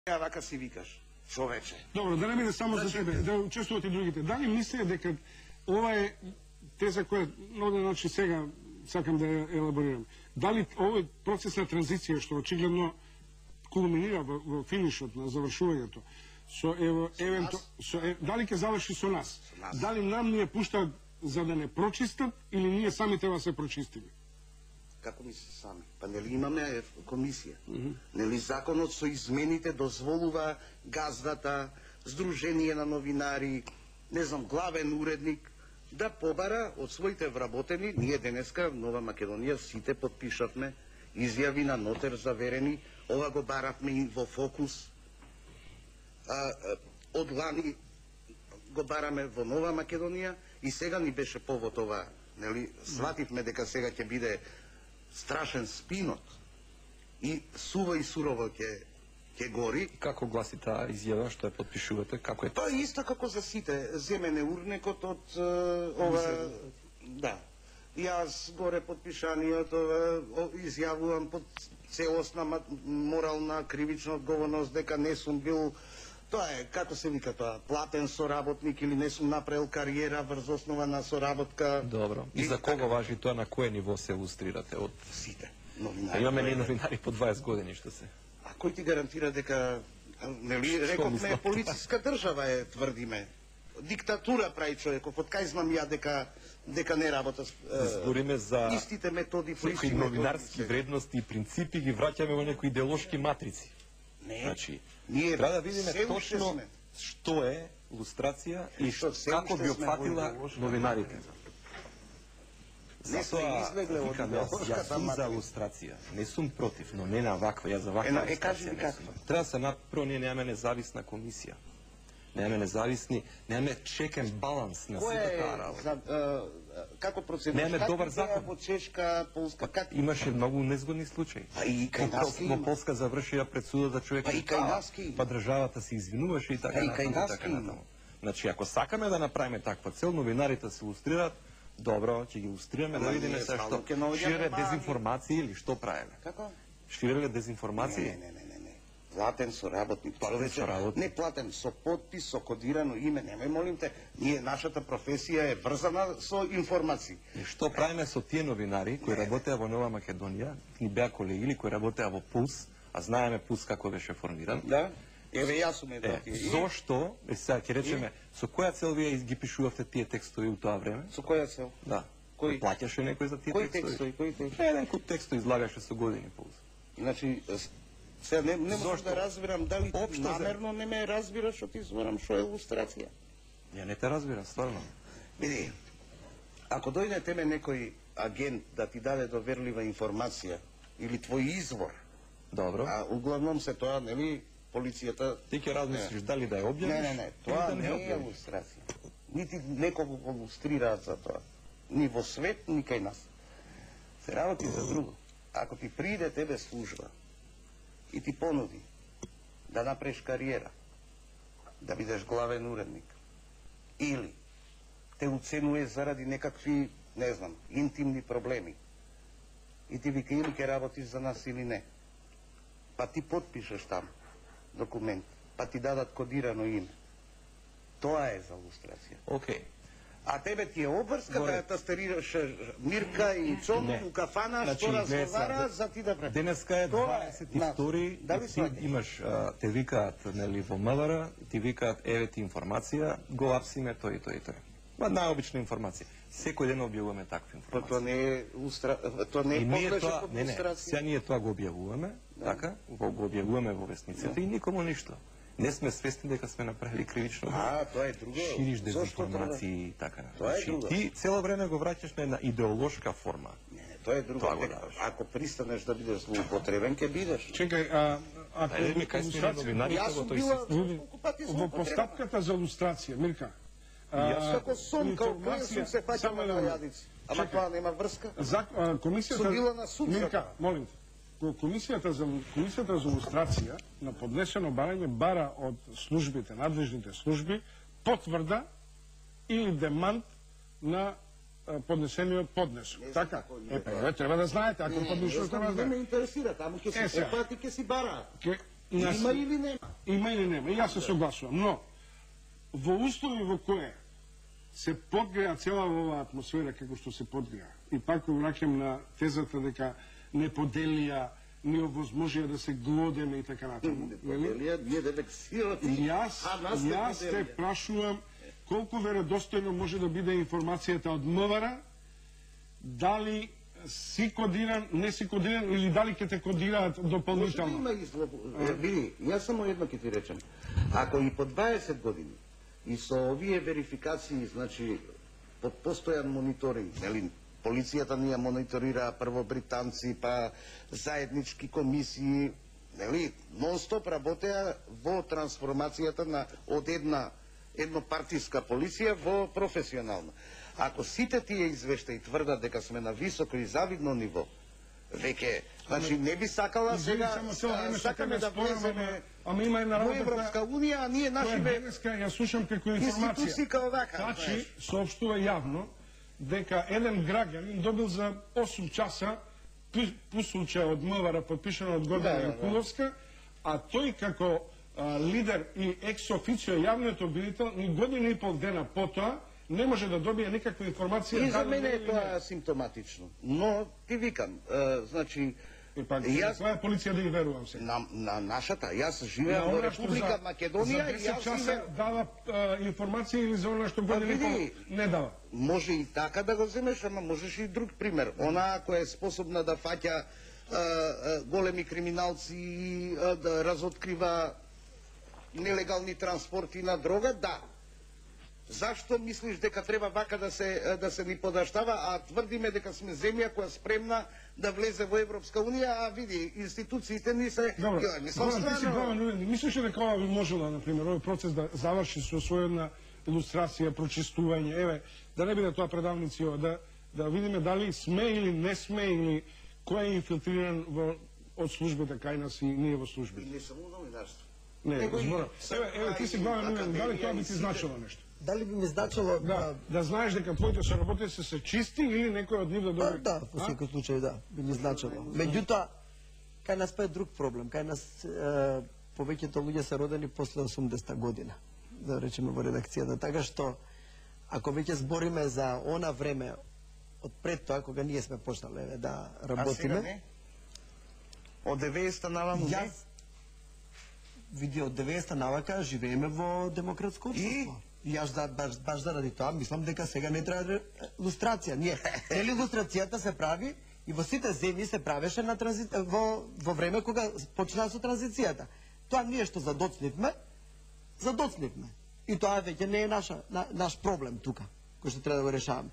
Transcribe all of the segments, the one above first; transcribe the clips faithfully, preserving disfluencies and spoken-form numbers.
Ја вака си викаш, човече. Добро, да не биде само за тебе, да учествуват и другите. Дали мислите дека ова е теза која на оден начин сега сакам да ја елаборирам. Дали овој процес на транзиција што очигледно кулминира во, во финишот на завршувањето, со ево евенту со е, дали ќе заврши со нас? Со нас. Дали нам ни ја пуштаат за да не прочистат или ние сами треба се прочистиме? Како ми се сами? Па нели имаме комисија? Mm -hmm. Нели законот со измените дозволува газдата, Сдружение на новинари, не знам, главен уредник, да побара од своите вработени. Ние денеска в Нова Македонија сите подпишавме изјави на нотер заверени, ова го баравме и во Фокус. А, а, од лани го бараме во Нова Македонија и сега ни беше повод ова, нели, свативме дека сега ќе биде страшен спинот и суво и сурово ќе ќе гори. Како гласи таа изјава што ја подпишувате? Како е тоа? Тоа исто како за сите, земене урнекот од uh, ова, да. Јас горе подпишаниот ова изјавувам под целосна морална кривична одговорност дека не сум бил, тоа е како се вика тоа, платен соработник или не сум направил кариера врз основа на соработка. Добро. И, и за кого така важи тоа, на кое ниво се илустрирате? Од сите новинари. Имаме не новинари по дваесет години што се. А кој ти гарантира дека, нели, рековме полициска држава е, тврдиме. Диктатура прави човеков, од кај знам ја дека дека не работа. Збориме за истите методи, некои новинарски вредности и принципи ги враќаме во некои идеолошки матрици. Не. Значи, ние треба да видиме точно што е лустрација и што, како би опфатила новинарите. Не сме излегле од идеолошката матрици. За лустрација. Не сум против, но не на ваква, ја за ваква. Е, кажи ми каква. Треба да се напро, ние немаме независна комисија. Немаме независни, немаме чекен баланс на сите таа работа. Како процедура? Немаме добар закон. Во Чешка, Полска, как? Имаше многу незгодни случаи. А и кај нас во Полска завршија пред судот да човек. А и кај нас ки. Па државата се извинуваше и така натаму. А и кај нас ки. Значи, ако сакаме да направиме таква цел, новинарите се илустрираат, добро, ќе ги илустрираме, да видиме се што шире дезинформации или што правиме. Како? Ширеле дезинформации? Не, не, не, не, не. Платен соработник. Платен соработник. Не платен, со подпис, со кодирано име. Немај, молим те, ние, нашата професија е врзана со информации. И што правиме со тие новинари кои работеа во Нова Македонија, и беа колеги или кои работеа во Пулс, а знаеме Пулс како беше формиран? Да. Еве јас сум е е, зошто, сега ќе речеме, со која цел вие ги пишувавте тие текстови у тоа време? Со која цел? Да. Кој плаќаше некој за тие кој текстови? Кој текстови? Еден куп текстови излагаше со години Пулс. Значи, сега не, не можам да разбирам дали ти намерно не ме разбираш што ти зборам што е илустрација. Ја не те разбирам, стварно. Види, ако дојде теме некој агент да ти даде доверлива информација или твој извор, добро, а углавном се тоа, нели, полицијата... Ти ќе размислиш дали да ја објавиш? Не, не, не, тоа да не е илустрација. Нити некого го илустрираат за тоа. Ни во свет, ни кај нас. Се работи за друго. Ако ти приде тебе служба и ти понуди да направиш кариера, да бидеш главен уредник, или те уценуе заради некакви, не знам, интимни проблеми, и ти вика или ќе работиш за нас или не, па ти подпишеш там документ, па ти дадат кодирано име. Тоа е за илустрација. Окей. А тебе ти е обврска да ја тастерираш Мирка и Цоно у кафана, што разговара за ти да прави. Денеска е дваесет и втори, ти имаш, те викаат, нели, во МВР, ти викаат, еве ти информација, го апсиме тој и тој и тој. Ма најобична информација. Секој ден објавуваме таква информација. Тоа не е тоа не е подлежи под илустрација. Сега ние тоа го објавуваме, така, го објавуваме во весниците и никому ништо. Не сме свесни дека сме направили кривично. А, тоа е друго. Шириш дезинформации и така. Тоа е друго. Ти цело време го враќаш на една идеолошка форма. Не, не, тоа е друго. Ако пристанеш да бидеш злоупотребен, ќе бидеш. Чекај, а ако јас сум била колку пати во постапката за илустрација, Мирка. Јас како сон, како клин сум се фаќал на јадици. Ама тоа нема врска. Комисијата сум била на суд. Мирка, молим те. Комисијата за Комисијата за илустрација на поднесено барање бара од службите, надлежните служби, потврда или демант на поднесениот поднесок. Така? Е, па, треба да знаете, ако поднесувате не ме интересира, таму ќе се опати, ќе си бара. Има или нема? Има или нема, и јас се согласувам, но во услови во кое се подгреа цела оваа атмосфера како што се подгреа, и пак враќам на тезата дека не поделија, не овозможија да се глодеме и така натаму. Не поделија, ние да бек сироти, Јас, а нас јас те прашувам колку веродостојно може да биде информацијата од МВР, дали си кодиран, не си кодиран, или дали ќе те кодираат дополнително. Може да има и зло... Види, јас само едно ќе ти речем. Ако и по дваесет години и со овие верификации, значи, под постојан мониторинг, нели, полицијата ни ја мониторира прво британци, па заеднички комисии, нели, нон-стоп работеа во трансформацијата на од една еднопартиска полиција во професионална. Ако сите тие извештаи тврдат дека сме на високо и завидно ниво, веќе, значи не би сакала сега сакаме да влеземе ама има една во работа Европска унија, а ние нашиве денеска ја слушам како институции информација. као вака. Тачи соопштува јавно дека еден граѓанин добил за осум часа пусулче од МВР подпишано од Гордана Јанкуловска, а тој како а, лидер и екс-официо јавниот обвинител ни година и пол дена потоа не може да добие никаква информација. И за мене е тоа симптоматично. Но ти викам, е, значи И пак, јас тоа е полиција да ги верувам се. на, на нашата, јас живеам во Република Македонија и за јас часа живеам. дава а, информација или за она што година и пол не дава. Може и така да го земеш, ама можеш и друг пример. Она која е способна да фаќа а, а, големи криминалци и а, да разоткрива нелегални транспорти на дрога, да. Зашто мислиш дека треба вака да се да се ни подаштава, а тврдиме дека сме земја која спремна да влезе во Европска унија, а види институциите ни се Добро, мислам Горан, ти си главен уредник. Мислиш ли дека ова би можела, например, овој процес да заврши со своја илустрација, прочистување, еве, да не биде тоа предавници ова, да да видиме дали сме или не сме, или кој е инфилтриран во од службите кај нас и ние во службите. Не само новинарство. Не, збора. Еве, еве ти си главен уредник, дали тоа би ти значило нешто? Дали би ми значило Да, да знаеш дека твоите соработници се чисти или некој од нив да Да, добие? да, во секој случај да, би ми значило. Меѓутоа, кај нас па е друг проблем. Кај нас е, повеќето луѓе се родени после осумдесета година, да речеме во редакцијата, така што ако веќе збориме за она време од пред тоа кога ние сме почнале да А сега работиме, не? Од деветдесета наваму не? јас види од деветдесета навака живееме во демократско општество. И јас да, баш, баш заради тоа мислам дека сега не треба лустрација. Ние, нели лустрацијата се прави и во сите земји се правеше на транзи... во, во време кога почна со транзицијата. Тоа ние што задоцнивме, задоцнивме. И тоа веќе не е наша, на, наш проблем тука, кој што треба да го решаваме.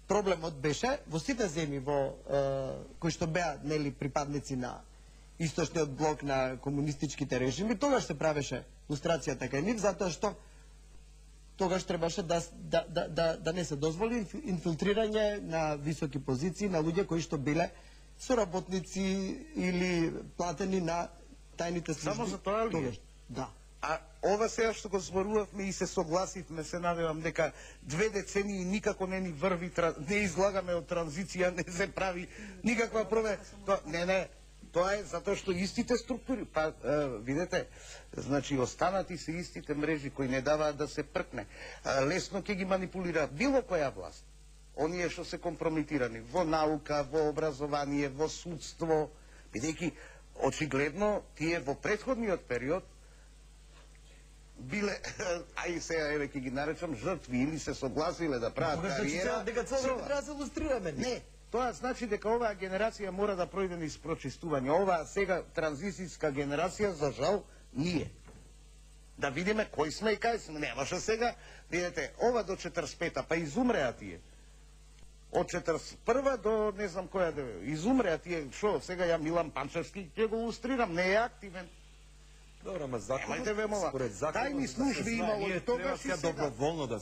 Проблемот беше во сите земји во е, кои што беа нели припадници на источниот блок на комунистичките режими, тогаш се правеше лустрацијата кај нив, затоа што тогаш требаше да, да, да, да, да не се дозволи инфилтрирање на високи позиции на луѓе кои што биле соработници или платени на тајните служби. Само за тоа ли? Тогаш, да. А ова сега што го зборувавме и се согласивме, се надевам дека две децении никако не ни врви, не излагаме од транзиција, не се прави никаква прове. Тоа, не, не, тоа е затоа што истите структури, па е, видете, значи останати се истите мрежи кои не даваат да се пркне. А, лесно ќе ги манипулира било која власт. Оние што се компрометирани во наука, во образование, во судство, бидејќи очигледно тие во претходниот период биле, ај сега еве ќе ги наречам жртви или се согласиле да прават Тогаш кариера. дека цело со- време треба да се лустрираме. Не, тоа значи дека оваа генерација мора да пројде низ прочистување. Оваа сега транзицијска генерација, за жал, ние. Да видиме кој сме и кај сме. Немаше сега, видите, ова до четрдесет и пета, па изумреа тие. Од четрдесет и прва до не знам која да изумреа тие, шо, сега ја Милан Панчевски ќе го лустрирам, не е активен. Добро, ама законот, Немајте ве мола. според законот, Тајни да се служби знае, имало ние и тогаш и треба сега. доброволно да